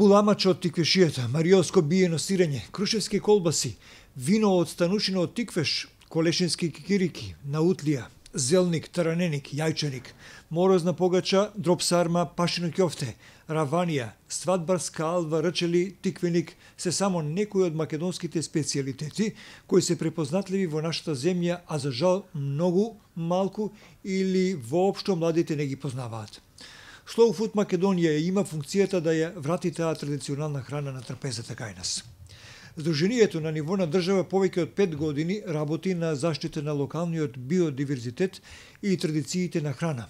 буламача од тиквешијата, мариоско биено сирење, крушевски колбаси, вино од станушина од тиквеш, колешински кикирики, наутлија, зелник, тараненик, јајчаник, морозна погача, дроп сарма, пашино ќофте, раванија, свадбарска алва, рчели, тиквеник се само некои од македонските специјалитети кои се препознатливи во нашата земја, а за жал многу малку или воопшто младите не ги познаваат. Slow Food Македонија има функцијата да ја врати таа традиционална храна на трапезата кај нас. Сдруженијето на ниво на држава повеќе од 5 години работи на заштита на локалниот биодиверзитет и традициите на храна.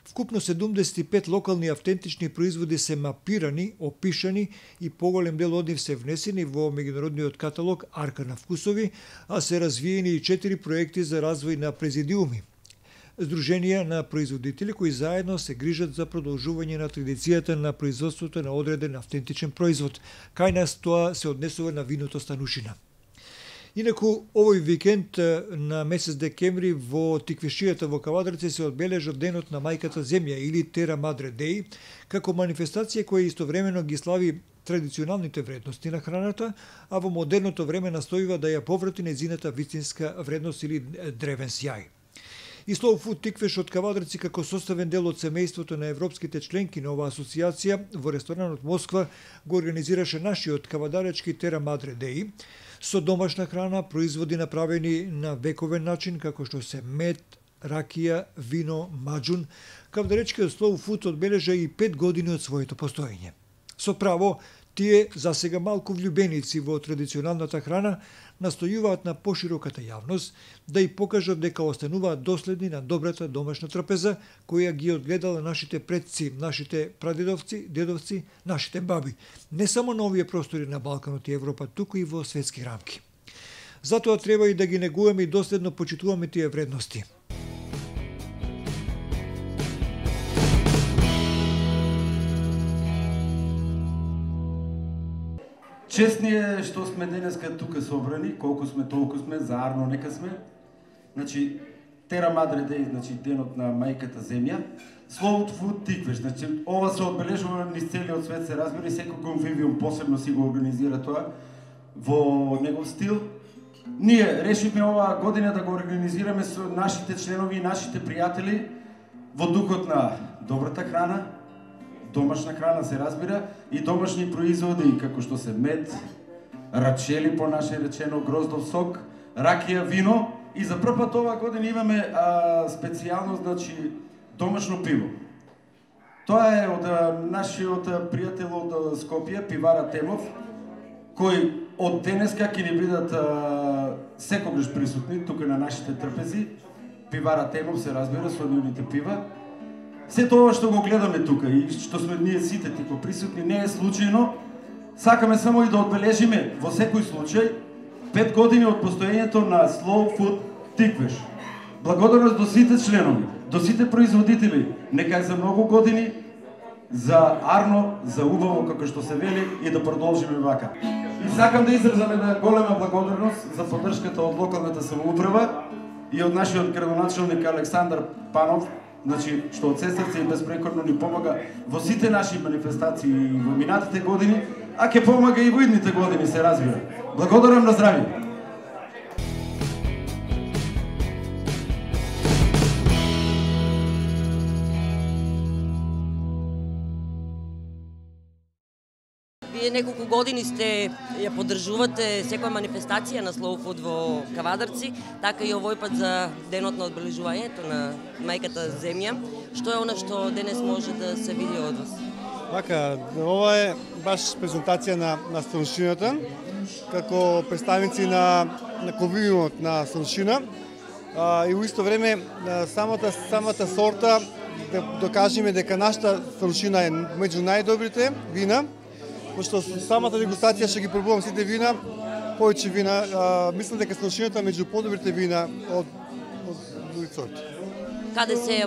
Вкупно 75 локални автентични производи се мапирани, опишани и поголем дел од нив се внесени во меѓународниот каталог Арка на вкусови, а се развиени и 4 проекти за развој на президиуми. Сдруженија на производители кои заедно се грижат за продолжување на традицијата на производството на одреден автентичен производ. Кај нас тоа се однесува на виното станушина. Инаку, овој викенд на месец декември во Тиквешијата во Кавадарци се одбележа Денот на мајката земја или Тера Мадре Деј, како манифестација која истовремено ги слави традиционалните вредности на храната, а во модерното време настојува да ја поврати нејзината вистинска вредност или древен сјај. И Slow Food Тиквеш од Кавадарци како составен дел од семејството на европските членки на оваа асоциација во ресторанот Москва го организираше нашиот кавадаречки Тера Мадре Деј со домашна храна, производи направени на вековен начин како што се мед, ракија, вино, маџун. Кавадаречкиот Slow Food одбележа и 5 години од своето постоење. Со право, тие засега малку влюбеници во традиционалната храна настојуваат на пошироката јавност да и покажат дека остануваат доследни на добрата домашна трапеза која ги одгледала нашите предци, нашите прадедовци, дедовци, нашите баби, не само на овие простори на Балканот и Европа, туку и во светски рамки. Затоа треба и да ги негуваме и доследно почитуваме тие вредности. Честни е што сме денеска тука собрани, колку сме толку сме, заарно нека сме. Значи, Тера Мадре Деј, значи денот на мајката земја. Slow Food Тиквеш, значи ова се одбележува низ целиот свет, се разбира, и секој конвивиум посебно си го организира тоа во негов стил. Ние решивме оваа година да го организираме со нашите членови и нашите пријатели во духот на добрата храна, домашна храна се разбира, и домашни производи како што се мед, рачели по наше речено, гроздов сок, ракија, вино, и за прв пат оваа година имаме специјално, значи, домашно пиво. Тоа е од нашиот пријател од Скопје, пивара Темов, кој од денеска ќе ни бидат секогаш присутни тука на нашите трпези. Пивара Темов се разбира со нивните пива. Сето ова што го гледаме тука и што сме ние сите типо присутни не е случајно. Сакаме само и да одбележиме во секој случај 5 години од постоењето на Slow Food Тиквеш. Благодарност до сите членови, до сите производители, нека е за многу години, за арно, за убаво како што се вели, и да продолжиме вака. И сакам да изразам една голема благодарност за поддршката од локалната самоуправа и од нашиот градоначелник Александар Панов, значи, што од се срце и безпрекорно ни помага во сите наши манифестации во минатите години, а ќе помага и во идните години, се разбира. Благодарам, на здравје! Вие неколку години ја поддржувате секоја манифестација на Slow Food во Кавадарци, така и овој пат за денот на одбележувањето на мајката земја. Што е она што денес може да се види од вас? Така, ова е баш презентација на станушината, како представници на конвивиумот на станушина, и во исто време самата сорта да докажеме дека нашата станушина е меѓу најдобрите вина. Пошто самата дегустација ќе ги пробувам сите вина, повеќе вина, мислам дека станушината меѓу подобрите вина од други сорти. Каде се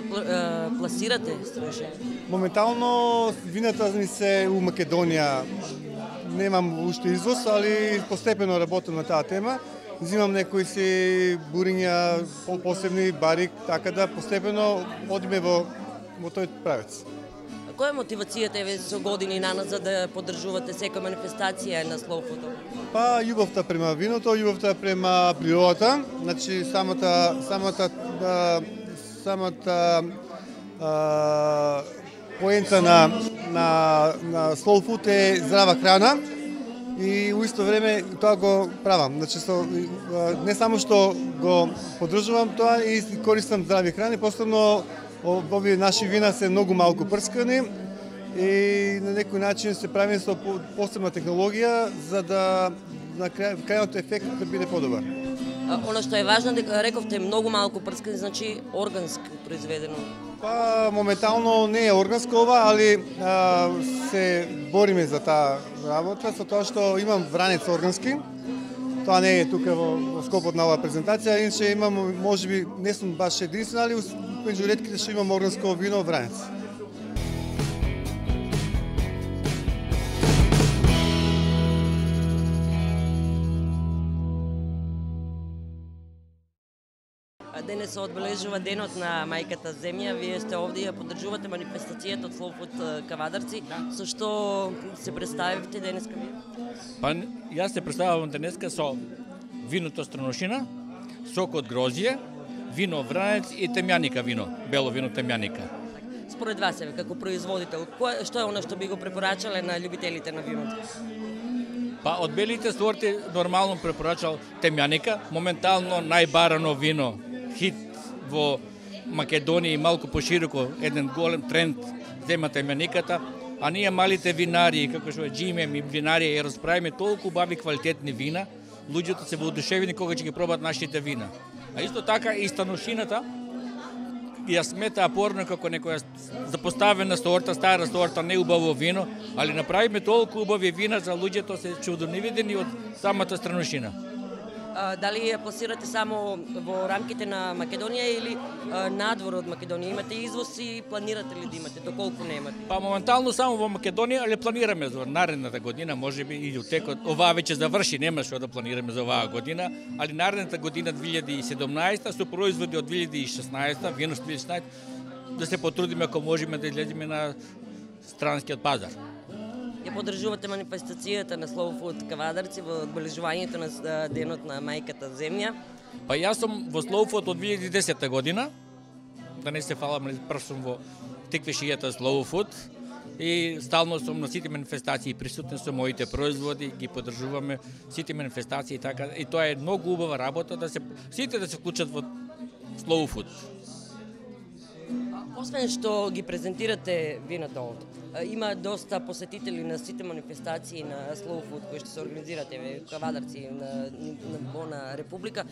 пласирате станушината? Моментално вината ми се у Македонија. Немам уште извоз, али постепено работам на таа тема. Взимам некои си буриња, посебни барик, така да постепено одиме во тој правец. Која е мотивацијата еве со години наназад да поддржувате секоја манифестација на Slow Food? Па љубовта према виното, љубовта према природата, значи самата поента на Slow Food е здрава храна и у исто време тоа го правам. Значи не само што го поддржувам тоа и користам здрави храни, посебно овие наши вина се многу малку прскани и на некој начин се прави со посебна технологија за да на крајот ефект да биде подобар. Она што е важно дека рековте многу малку прскани, значи органски произведено. Па моментално не е органско ова, али се бориме за таа работа со тоа што имам вранец органски. Тоа не е тука во скопот на оваа презентација, иначе имам, можеби не сум баш единствен, али меѓу ретките што имам органско вино вранец. Денес се одбележува денот на мајката земја. Вие сте овде и ја поддржувате манифестацијата од Slow Food Кавадарци. Со што се представивте денеска вие? Па јас се представувам денеска со виното Странушина, сок од грозје, вино вранец и темјаника вино, бело вино темјаника. Според вас еве како производител, што е она што би го препорачале на љубителите на виното? Па од белите сорти нормално препорачал темјаника, моментално најбарано вино, хит во Македонија и малку пошироко, еден голем тренд зема темјаниката, а ние малите винари, како што е Джимем и винарија, ја расправиме толку убави квалитетни вина, луѓето се воодушевени кога ќе ги пробат нашите вина. А исто така и Станушината ја смета апорно како некоја запоставена сорта, стара сорта, неубаво вино, али направиме толку убави вина за луѓето се чудонивидени од самата Странушина. Дали ја пласирате само во рамките на Македонија или надвор од Македонија? Имате извоз и планирате ли да имате, доколку немате? Па моментално само во Македонија, али планираме за наредната година, можеби и до текот. Оваа веќе заврши, нема што да планираме за оваа година, али наредната година 2017 со производи од 2016, вино 2016, да се потрудиме ако можеме да излеземе на странскиот пазар. Ја поддржувате манифестацијата на Slow Food Кавадарци во одбележувањето на денот на мајката земја. Па јас сум во Slow Food од 2010 година, да не се фалам, прв сум во тиквешијата Slow Food и стално сум на сите манифестации присутен со моите производи, ги поддржуваме сите манифестации и така, и тоа е многу убава работа да се сите да се вклучат во Slow Food. Освен што ги презентирате вината овде, има доста посетители на сите манифестации на Slow Food кои што се организирате во Кавадарци на ниво на Република.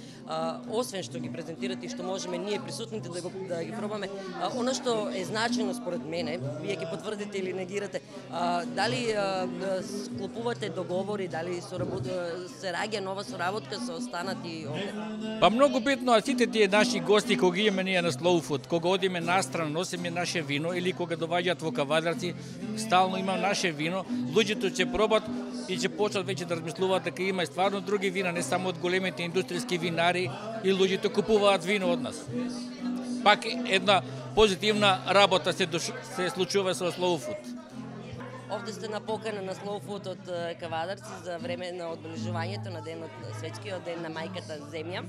Освен што ги презентирате и што можеме ние присутните да ги пробаме, она што е значено според мене, вие ќе потврдите или негирате, дали склопувате договори, дали се раѓа нова соработка со останати овде? Па многу битно, а сите тие наши гости кога имаме ние на Slow Food, кога одиме настрана, носиме наше вино или кога доаѓаат во Кавадарци, стално има наше вино, луѓето ќе пробат и ќе почнат веќе да размислуваат дека има и стварно други вина, не само од големите индустријски винари, и луѓето купуваат вино од нас. Пак една позитивна работа се случува со Slow Food. Овде сте на покана на Slow Food од Кавадарци за време на одбележувањето на денот, светскиот ден на мајката земја.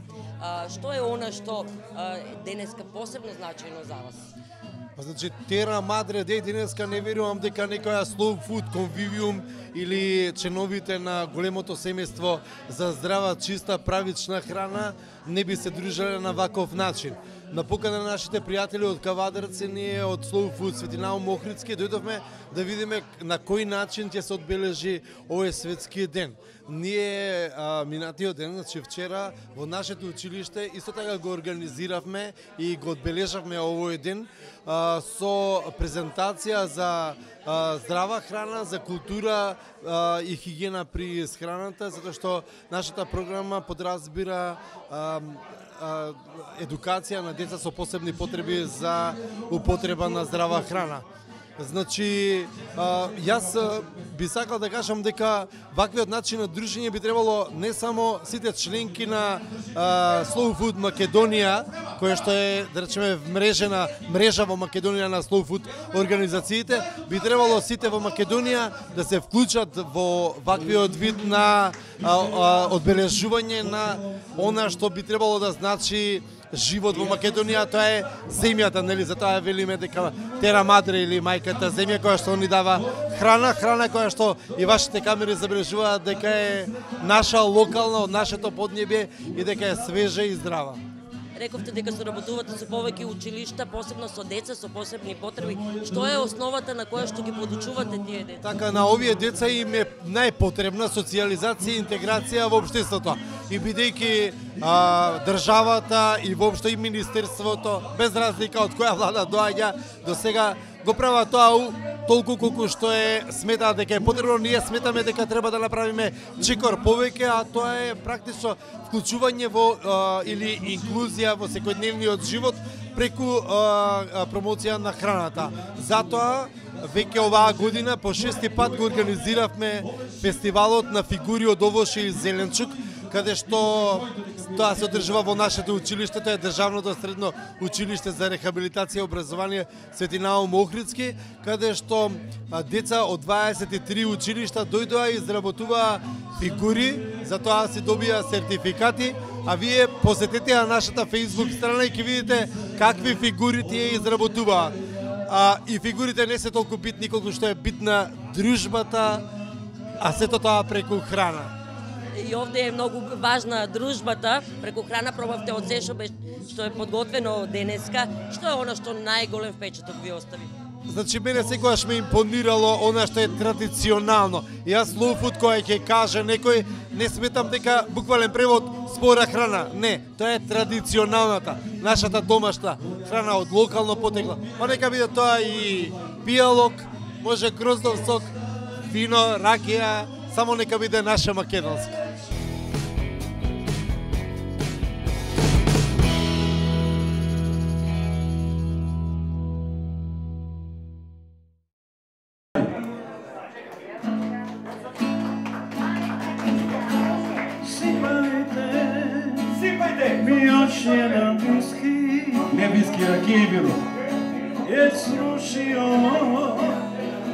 Што е она што денеска посебно значајно за вас? Па значи Тера Мадре Дей денеска не верувам дека некоја Slow Food конвивиум или членовите на големото семејство за здрава, чиста, правична храна не би се дружеле на ваков начин. На покана на нашите пријатели од Кавадарци, ние од Slow Food Светинаум Охридски дојдовме да видиме на кој начин ќе се одбележи овој светски ден. Ние минатиот ден, значи вчера, во нашето училиште исто така го организиравме и го одбележавме овој ден со презентација за здрава храна, за култура и хигиена при храната, затоа што нашата програма подразбира едукација на деца со посебни потреби за употреба на здрава храна. Значи, јас би сакал да кажам дека ваквиот начин на дружење би требало не само сите членки на Slow Food Македонија, која што е, да речеме, мрежа во Македонија на Slow Food организациите, би требало сите во Македонија да се вклучат во ваквиот вид на одбележување на она што би требало да значи живот во Македонија, тоа е земјата, нели, затоа велиме дека Тера Мадре или мајката земја која што ни дава храна која што и вашите камери забележуваат дека е наша локална од нашето поднебје и дека е свежа и здрава. Рековте дека соработувате со повеќе училишта, посебно со деца со посебни потреби. Што е основата на која што ги подучувате тие деца? Така, на овие деца им е најпотребна социјализација и интеграција во општеството. И бидејќи државата и воопшто и министерството, без разлика од која влада доаѓа, до сега го прават тоа толку колку што сметаат дека е потребно. Ние сметаме дека треба да направиме чекор повеќе, а тоа е практично вклучување во или инклузија во секојдневниот живот преку промоција на храната. Затоа веќе оваа година по 6-ти пат го организиравме фестивалот на фигури од овоше и зеленчук, каде што тоа се одржува во нашето училиште, тоа е Државното средно училиште за рехабилитација и образование Свети Наум Охридски, каде што деца од 23 училишта дојдоа и изработуваа фигури, затоа си добија сертификати, а вие посетете на нашата Facebook страна и ќе видите какви фигури тие изработуваа. И фигурите не се толку битни колку што е битна дружбата, а сето тоа преку храна. И овде е многу важна дружбата, преку храна пробавте од се што е подготвено денеска. Што е она што најголем впечаток ви остави? Значи, мене секогаш ме импонирало она што е традиционално. И јас Slow Food кој ќе каже некој, не сметам дека буквален превод спора храна. Не, тоа е традиционалната, нашата домашна храна од локално потекло. Па нека биде тоа и пијалок, може гроздов сок, вино, ракија, само нека биде наша македонска. Не виски, ракија и вино. Е срушио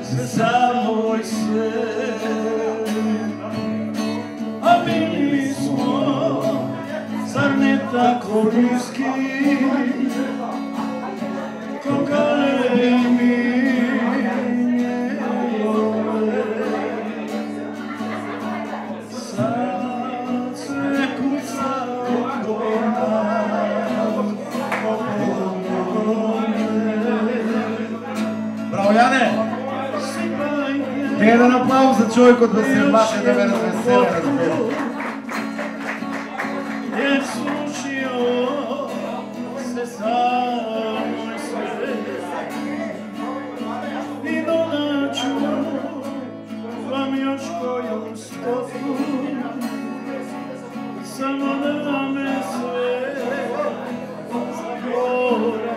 се само свет, а били смо, зар не тако близки, кога ми Јане, еден аплауз за човекот да се маше да ме развесела, разбира. Е слушио се само свет, и доначу вам још коју стофу, само да ме свет загора.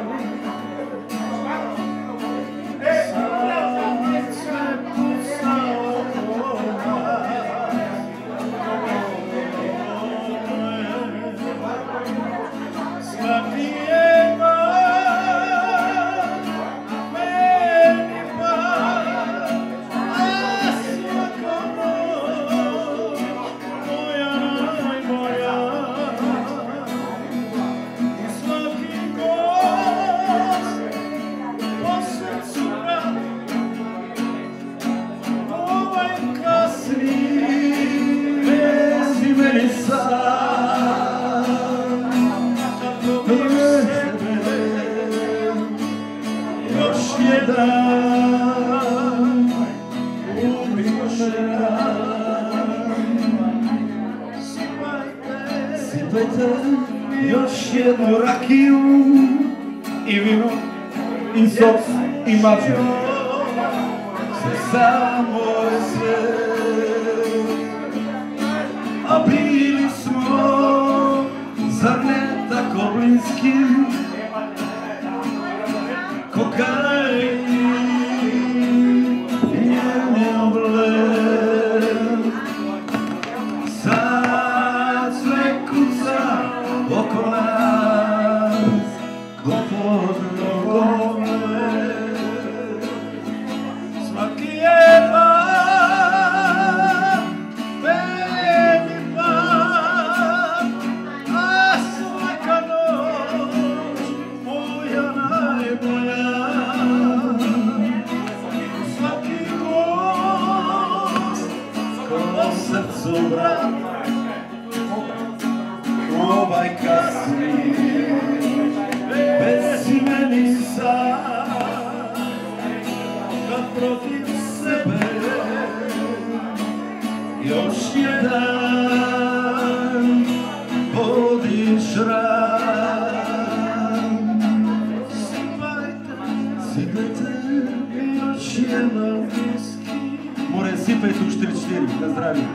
Još jednu rakiju i vino i sos i maču. Samo sve, a bili smo, zar ne tako bliski, ko kaj под ногоме. Сваки е пат, беги пат, а свака ноќ моја најмоја. Сваки гост ко срцу брат, ovaj kasni bez imeni sad, kad protiv sebe još jedan vodiš rad. Sipajte još jedan viski. More, sipajte u 4-4, na zdravlje.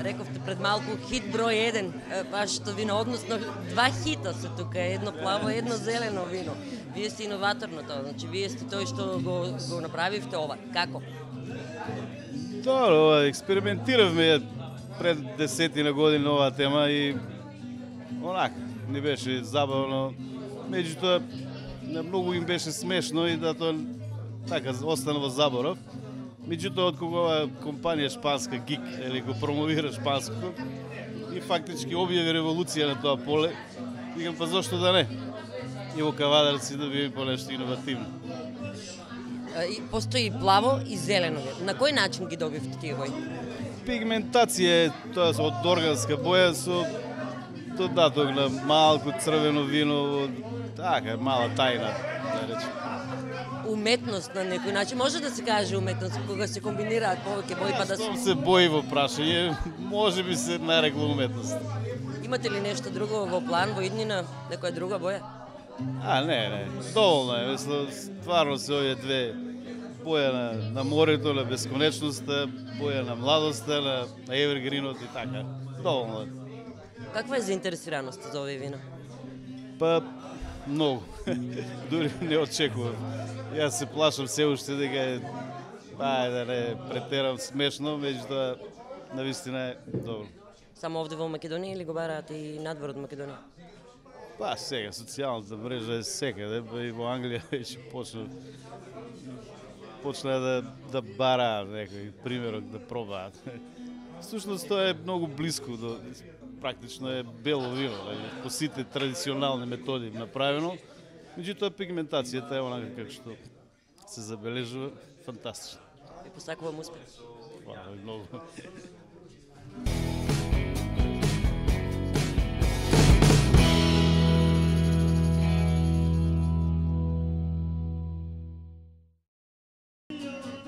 Рековте пред малку хит број 1, вашето вино, односно 2 хита се тука, едно плаво, едно зелено вино. Вие сте иноватор на тоа, значи вие сте тој што го направивте ова. Како? Добро, експериментиравме пред 10 години оваа тема и онак, не беше забавно. Меѓутоа, многу им беше смешно и да тоа така остана во заборав. Меѓутоа, од кога компанија шпанска ГИК, или го промовира шпанското, и фактички објави револуција на тоа поле, викам, па зошто да не? И во Кавадарци да биде по нешто иновативно. Постои плаво и зелено вино. На кој начин ги добивте тие бои? Пигментација е тоа од органска боја со додаток на малку црвено вино, така, мала тајна, да речем. Уметност на некој начин, може да се каже уметност, кога се комбинираат повеќе бои па да се бои во прашање, може би се нарекла уметност. Имате ли нешто друго во план, во иднина, некоја друга боја? Не, доволно е, мислам, стварно се овие две боја на морето, на бесконечноста, боја на младоста, на евергринот и така, доволно е. Каква е заинтересираноста за овие вино? Па, многу. Дури не очекувам. Јас се плашам се уште дека е, да не претерам смешно, меѓутоа навистина е добро. Само овде во Македонија или го бараат и надвор од Македонија? Па сега, социјалната мрежа е секаде, и во Англија веќе почна да бараат некој примерок да пробаат. Всушност тоа е многу близко до, практично е бело вино, по сите традиционални методи направено. Меѓутоа пигментацијата е онака како што се забележува, фантастично. Ви посакувам успех. Фала многу.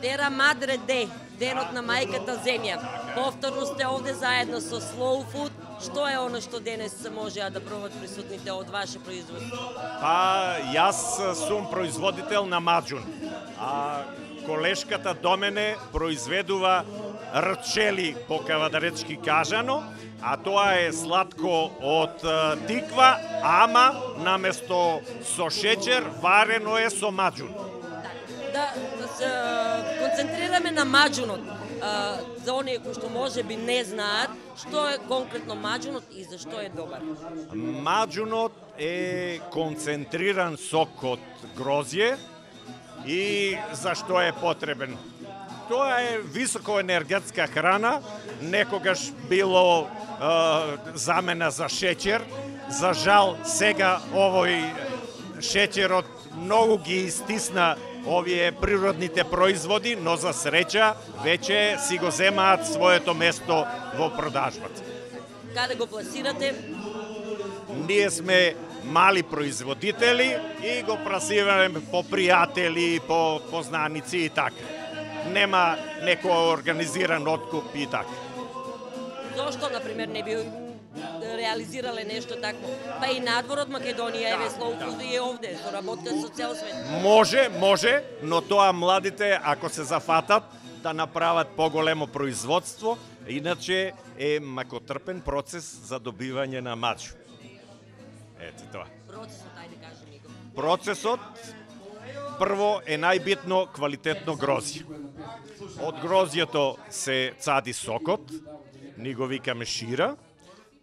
Тера Мадре Дей, денот на мајката земја. Повторно сте овде заедно со Slow Food. Што е оно што денес можеа да пробат присутните од ваше производство? Па, јас сум производител на маџун. А колешката до мене произведува рчели по кавадаречки кажано, а тоа е сладко од тиква, ама наместо со шеќер варено е со маџун. Да се концентрираме на маџунот. За оние кои што може би не знаат, што е конкретно маџунот и зашто е добар? Маџунот е концентриран сок од грозје и зашто е потребен? Тоа е високоенергетска храна, некогаш било замена за шеќер. За жал, сега овој шеќерот многу ги истисна овие природните производи, но за среќа веќе си го земаат своето место во продажбата. Каде го пласирате? Ние сме мали производители и го пласираме по пријатели, по познаници и така. Нема некој организиран откуп и така. Зошто, например, не би реализирале нешто такво? Па и надвор од Македонија, еве Slow Food и овде, соработка со цел свет. Може, но тоа младите, ако се зафатат, да направат поголемо производство, иначе е макотрпен процес за добивање на маџу. Ето тоа. Процесот, ајде кажи ми го. Процесот Прво е најбитно квалитетно грозје. Од грозјето се цади сокот, ни го викаме шира,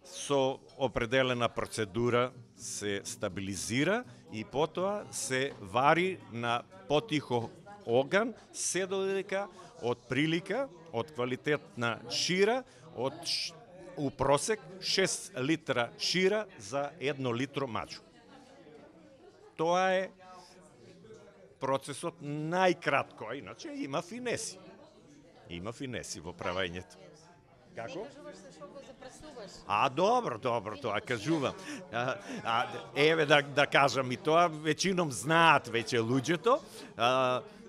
со определена процедура се стабилизира и потоа се вари на потихо оган, се додека од прилика, од квалитетна шира, у просек 6 литра шира за 1 литро маџу. Тоа е процесот најкратко, а иначе има финеси. Има финеси во правењето. Како? Добро, тоа кажувам. Еве да кажам и тоа, веćinom знаат веќе луѓето.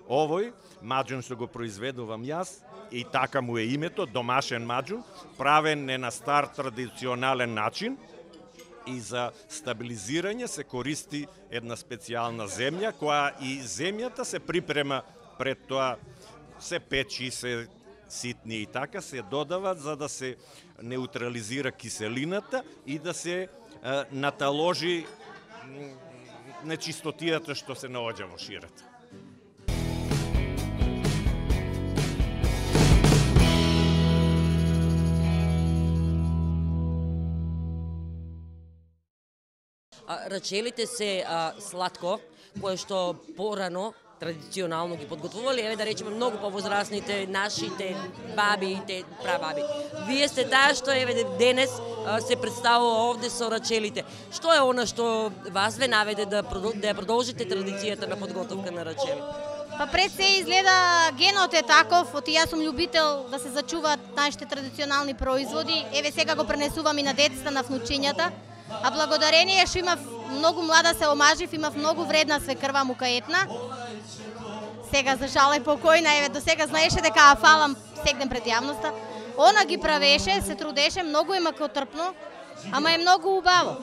Овој маџун што го произведувам јас, и така му е името, домашен маџун, правен е на стар традиционален начин и за стабилизирање се користи една специјална земја, која и земјата се припрема пред тоа, се печи, се ситни и така се додават за да се неутрализира киселината и да се наталожи нечистотијата што се наоѓа во ширата. Рачелите се сладко, кое што порано традиционално ги подготвували, еве да речеме многу повозрасните, нашите баби и прабаби. Вие сте таа што еве денес се представува овде со рачелите. Што е она што вас ве наведе да ја продолжите традицијата на подготовка на рачели? Па пред се изгледа генот е таков, оти јас сум љубител да се зачуваат нашите традиционални производи. Еве сега го пренесувам и на децата, на внучињата. А благодарение што имав многу млада се омажив, имав многу вредна свекрва мукаетна. Сега за жал е покојна, еве до сега знаеше дека ја фалам сегден пред јавноста. Она ги правеше, се трудеше, многу е макотрпно, ама е многу убаво.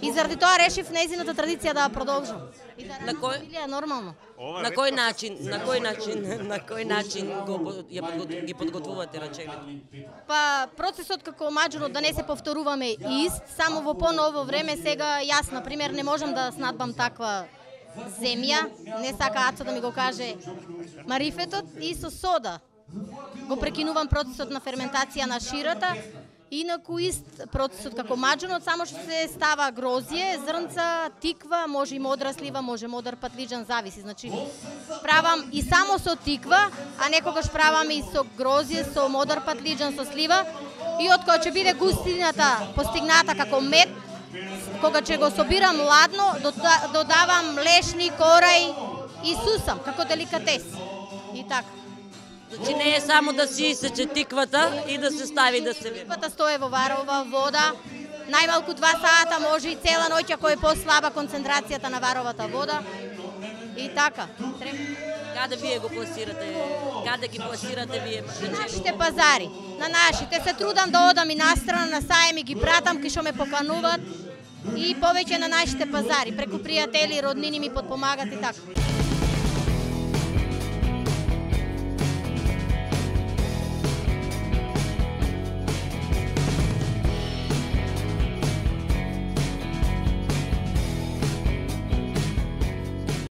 И заради тоа решив нејзината традиција да ја продолжам. И да е нормално. На кој начин ги подготвувате рачелите? Па процесот како маџунот да не се повторуваме ист, само во поново време сега јас на пример не можам да снадбам таква земја, не сака Ацо да ми го каже марифетот и со сода. Го прекинувам процесот на ферментација на ширата. Инаку ист процесот како маџунот, само што се става грозје, зрнца, тиква, може и модра слива, може модр патлиџан, зависи. Значи, правам и само со тиква, а некогаш правам и со грозје, со модр патлиџан, со слива. И откога ќе биде густината постигната како мед, кога ќе го собирам ладно, додавам лешни, корај и сусам, како деликатес. И така. Значи не е само да си исече тиквата и да се стави да се вири. Тиквата стое во варова вода, најмалку 2 сата, може и цела ноќ ако е послаба концентрацијата на варовата вода. И така. Каде вие го пласирате? Каде ги пласирате вие? На нашите пазари. На нашите. Се трудам да одам и настрана, на саеми ги пратам, кај што ме покануваат. И повеќе на нашите пазари. Преку пријатели, роднини ми подпомагат и така.